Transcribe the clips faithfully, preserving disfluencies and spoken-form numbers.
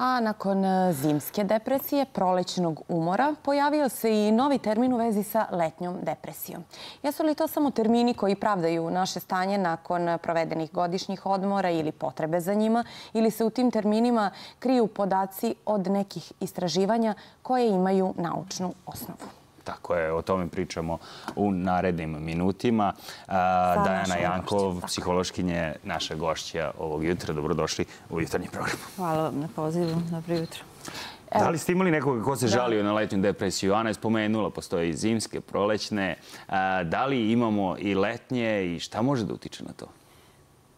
A nakon zimske depresije, prolećnog umora, pojavio se i novi termin u vezi sa letnjom depresijom. Jesu li to samo termini koji pravdaju naše stanje nakon provedenih godišnjih odmora ili potrebe za njima, ili se u tim terminima kriju podaci od nekih istraživanja koje imaju naučnu osnovu? Tako je, o tome pričamo u narednim minutima. Dajana Jankov, psihološkinje, naša gošća ovog jutra. Dobrodošli u jutarnji program. Hvala vam na pozivu. Dobro jutro. Da li ste imali nekoga ko se žalio na letnju depresiju? Ana je spomenula, postoje i zimske, prolećne. Da li imamo i letnje i šta može da utiče na to?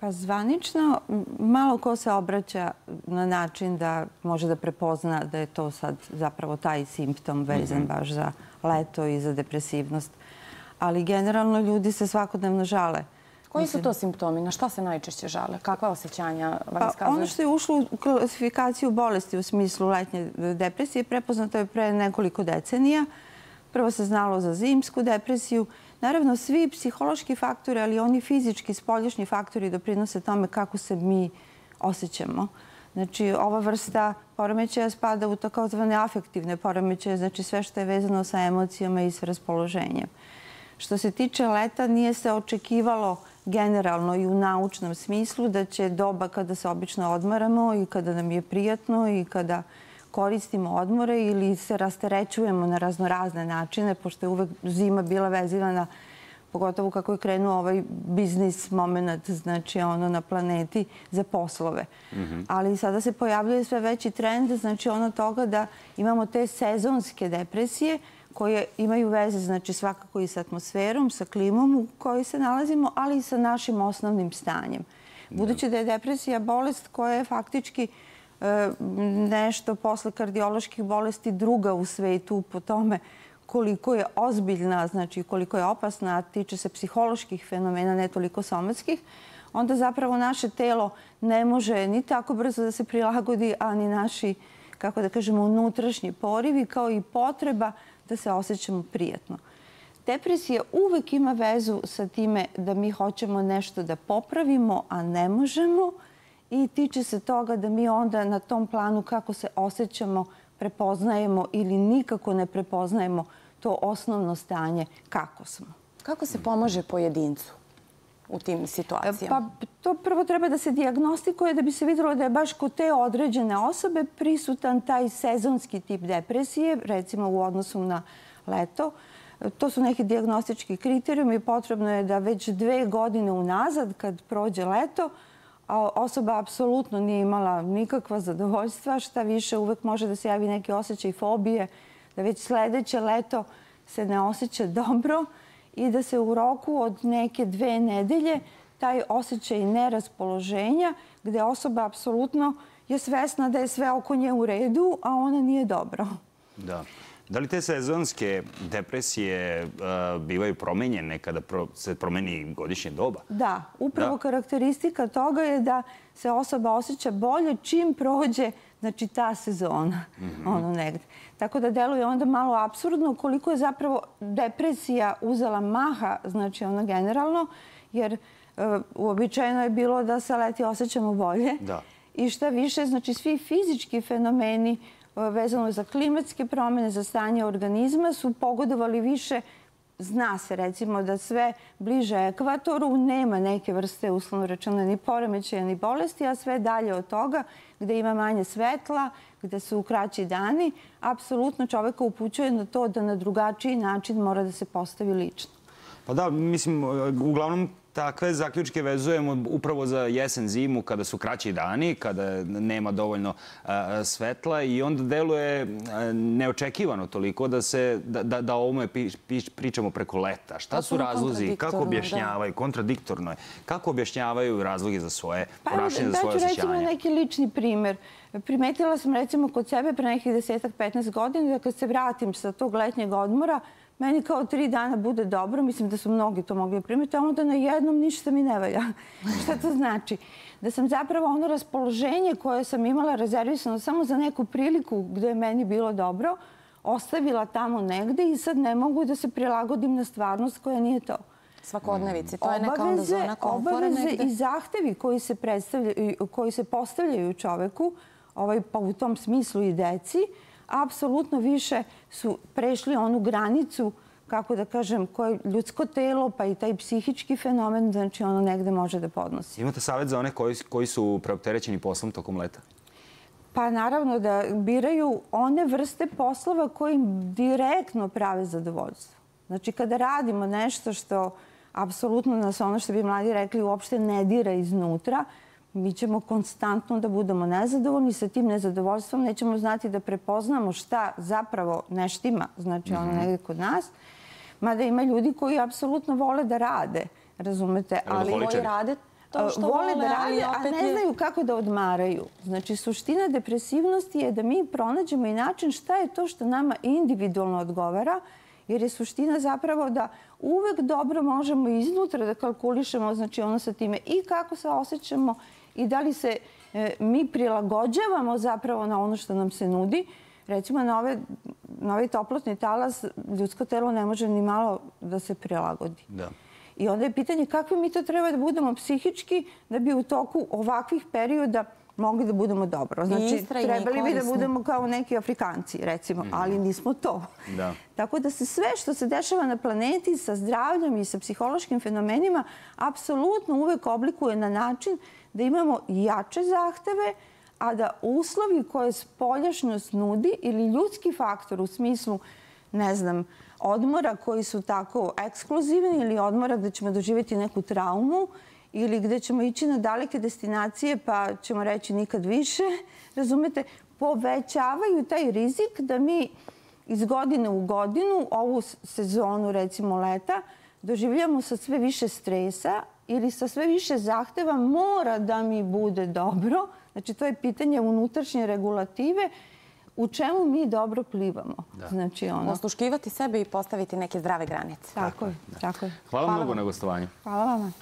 Pa zvanično, malo ko se obraća na način da može da prepozna da je to sad zapravo taj simptom vezan baš za leto i za depresivnost. Ali generalno ljudi se svakodnevno žale. Koji su to simptomi? Na šta se najčešće žale? Kakva osjećanja vam iskazuju? Ono što je ušlo u klasifikaciju bolesti u smislu letnje depresije prepoznato je pre nekoliko decenija. Prvo se znalo za zimsku depresiju. Naravno, svi psihološki faktori, ali oni fizički, spoljašnji faktori doprinose tome kako se mi osjećamo. Znači, ova vrsta poremećaja spada u takozvane afektivne poremećaje, znači sve što je vezano sa emocijama i s raspoloženjem. Što se tiče leta, nije se očekivalo generalno i u naučnom smislu da će doba kada se obično odmaramo i kada nam je prijatno i kada koristimo odmore ili se rasterećujemo na raznorazne načine, pošto je uvek zima bila vezivana, pogotovo kako je krenuo ovaj biznis moment, znači ono na planeti, za poslove. Ali sada se pojavljuje sve veći trend, znači ono toga da imamo te sezonske depresije koje imaju veze, znači svakako i sa atmosferom, sa klimom u kojoj se nalazimo, ali i sa našim osnovnim stanjem. Budući da je depresija bolest koja je faktički nešto posle kardioloških bolesti druga u svetu po tome koliko je ozbiljna, znači koliko je opasna, a tiče se psiholoških fenomena, ne toliko somatskih, onda zapravo naše telo ne može ni tako brzo da se prilagodi, a ni naši, kako da kažemo, unutrašnji porivi, kao i potreba da se osjećamo prijatno. Depresija uvek ima vezu sa time da mi hoćemo nešto da popravimo, a ne možemo, i tiče se toga da mi onda na tom planu kako se osjećamo prepoznajemo ili nikako ne prepoznajemo to osnovno stanje kako smo. Kako se pomaže pojedincu u tim situacijama? Pa to prvo treba da se dijagnostikuje da bi se vidjelo da je baš kod te određene osobe prisutan taj sezonski tip depresije, recimo u odnosu na leto. To su neki dijagnostički kriterijumi. Potrebno je da već dve godine unazad, kad prođe leto, a osoba apsolutno nije imala nikakva zadovoljstva, šta više uvek može da se javi neki osjećaj fobije, da već sledeće leto se ne osjeća dobro i da se u roku od neke dve nedelje taj osjećaj neraspoloženja, gde osoba apsolutno je svesna da je sve oko nje u redu, a ona nije dobro. Da. Da li te sezonske depresije bivaju promenjene kada se promeni godišnje doba? Da. Upravo karakteristika toga je da se osoba osjeća bolje čim prođe, znači, ta sezona. Ono negde. Tako da deluje onda malo apsurdno koliko je zapravo depresija uzela maha, znači ono generalno, jer uobičajeno je bilo da se leti osjećamo bolje. I šta više, znači svi fizički fenomeni vezano za klimatske promjene, za stanje organizma, su pogodovali više. Zna se, recimo, da sve bliže ekvatoru nema neke vrste, uslovno rečeno, ni poremećaja, ni bolesti, a sve dalje od toga, gde ima manje svetla, gde su kraći dani, apsolutno čoveka upućuje na to da na drugačiji način mora da se postavi lično. Pa da, mislim, uglavnom takve zaključke vezujemo upravo za jesen, zimu, kada su kraći dani, kada nema dovoljno svetla i onda deluje neočekivano toliko da o ovome pričamo preko leta. Šta su razlozi? Kako objašnjavaju? Kontradiktorno je. Kako objašnjavaju razloge za svoje ponašanje, za svoje osjećanje? Recimo neki lični primer. Primetila sam recimo kod sebe pre nekih desetak, petnaest godina da kad se vratim sa tog letnjeg odmora, meni kao tri dana bude dobro, mislim da su mnogi to mogli primiti, a onda na jednom ništa mi ne valja. Šta to znači? Da sam zapravo ono raspoloženje koje sam imala rezervisano samo za neku priliku gde je meni bilo dobro, ostavila tamo negde i sad ne mogu da se prilagodim na stvarnost koja nije to. Svakodnevici, to je neka onda zona komfora negde. Obaveze i zahtevi koji se postavljaju čoveku pa u tom smislu i deci, apsolutno više su prešli onu granicu, kako da kažem, koje ljudsko telo, pa i taj psihički fenomen, znači ono negde može da podnosi. Imate savjet za one koji su preopterećeni poslom tokom leta? Pa naravno da biraju one vrste poslova koji im direktno prave zadovoljstvo. Znači kada radimo nešto što apsolutno nas, ono što bi mladi rekli, uopšte ne dira iznutra, mi ćemo konstantno da budemo nezadovoljni. Sa tim nezadovoljstvom nećemo znati da prepoznamo šta zapravo ne štima, znači ono negde kod nas. Mada ima ljudi koji apsolutno vole da rade, razumete? Ali koji rade to što vole, da rade, a ne znaju kako da odmaraju. Znači, suština depresivnosti je da mi pronađemo i način šta je to što nama individualno odgovara, jer je suština zapravo da uvek dobro možemo iznutra da kalkulišemo, znači ono sa time i kako se osjećamo i da li se mi prilagođavamo zapravo na ono što nam se nudi. Recimo, na ovaj toplotni talas ljudsko telo ne može ni malo da se prilagodi. I onda je pitanje kakvi mi to treba da budemo psihički da bi u toku ovakvih perioda mogli da budemo dobro. Znači, trebali bi da budemo kao neki Afrikanci, recimo, ali nismo to. Tako da se sve što se dešava na planeti sa zdravljem i sa psihološkim fenomenima apsolutno uvek oblikuje na način da imamo jače zahteve, a da uslovi koje spoljašnjost nudi ili ljudski faktor u smislu, ne znam, odmora koji su tako ekskluzivni ili odmora gde ćemo doživjeti neku traumu ili gde ćemo ići na daleke destinacije pa ćemo reći nikad više, razumete, povećavaju taj rizik da mi iz godine u godinu ovu sezonu, recimo leta, doživljamo sa sve više stresa ili sa sve više zahteva mora da mi bude dobro. Znači, to je pitanje unutrašnje regulative u čemu mi dobro plivamo. Znači, ono... Osluškivati sebe i postaviti neke zdrave granice. Tako je, tako je. Hvala mnogo na gostovanju. Hvala vama.